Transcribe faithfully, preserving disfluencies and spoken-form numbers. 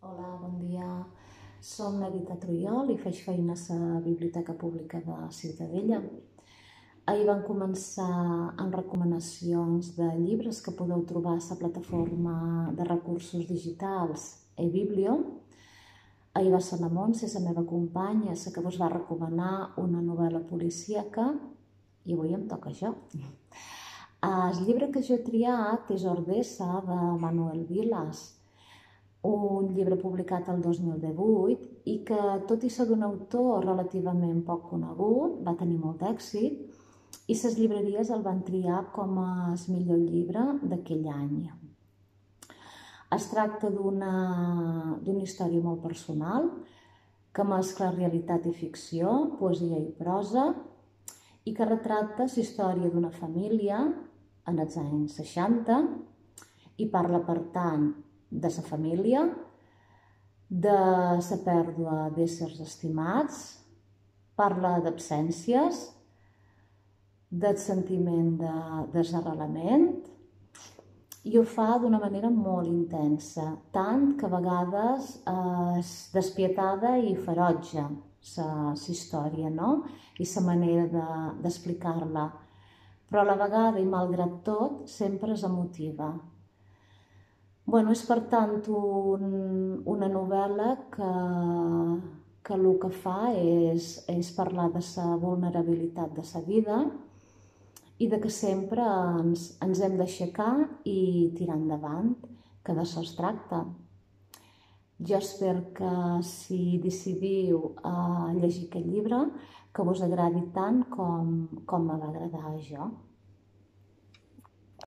Hola, bon dia. Som la Rita Trujol i faig feines a la Biblioteca Pública de Ciutadella. Ahir vam començar amb recomanacions de llibres que podeu trobar a la plataforma de recursos digitals eBiblio. Ahir va ser la Montse, la meva companya, la que vos va recomanar una novel·la policíaca i avui em toca jo. El llibre que jo he triat és Ordesa, de Manuel Vilas, un llibre publicat el dos mil divuit i que, tot i ser d'un autor relativament poc conegut, va tenir molt d'èxit i les llibreries el van triar com a millor llibre d'aquell any. Es tracta d'una d'una història molt personal que mescla realitat i ficció, poesia i prosa i que retrata la història d'una família en els anys seixanta i parla, per tant, de la família, de la pèrdua d'éssers estimats, parla d'absències, del sentiment de desarrelament i ho fa d'una manera molt intensa, tant que a vegades és despietada i ferotge la història, no? I la manera d'explicar-la, però a la vegada i malgrat tot sempre és emotiva. Bueno, és per tant un, una novel·la que, que el que fa és, és parlar de la vulnerabilitat de la vida i de que sempre ens, ens hem d'aixecar i tirar endavant, que d'això es tracta. Jo espero que si decidiu a llegir aquest llibre que vos agradi tant com, com me va agradar a jo.